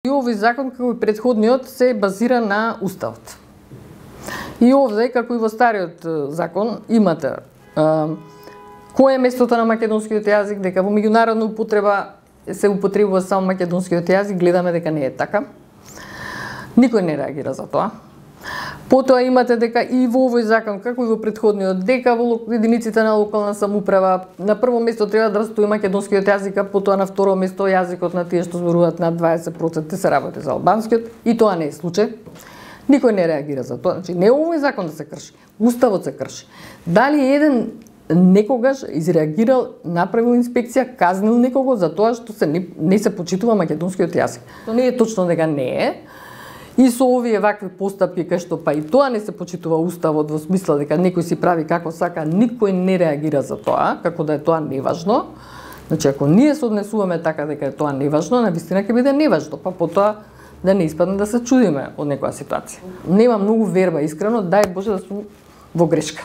И овој закон, како и претходниот, се базира на Уставот. И овде, како и во стариот закон, имате кој е местото на македонскиот јазик, дека во меѓународна употреба се употребува само македонскиот јазик, гледаме дека не е така. Никој не реагира за тоа. Потоа имате дека и во овој закон, како и во претходниот, дека во единиците на локална самоуправа на прво место треба да стои македонскиот јазик, а потоа на второ место јазикот на тие што зборуваат над 20% се работи за албанскиот, и тоа не е случај. Никој не реагира за тоа. Значи, не овој закон да се крши, Уставот се крши. Дали еден некогаш изреагирал, направил инспекција, казнил некого за тоа што не се почитува македонскиот јазик? Тоа не е точно дека не е. И со овие вакви постапки кај што па и тоа не се почитува Уставот во смисла дека некој си прави како сака, никој не реагира за тоа, како да е тоа неважно. Значи, ако ние се однесуваме така дека е тоа неважно, навистина ќе биде неважно, па потоа да не испадне да се чудиме од некоја ситуација. Нема многу верба, искрено, дај Боже да сум во грешка.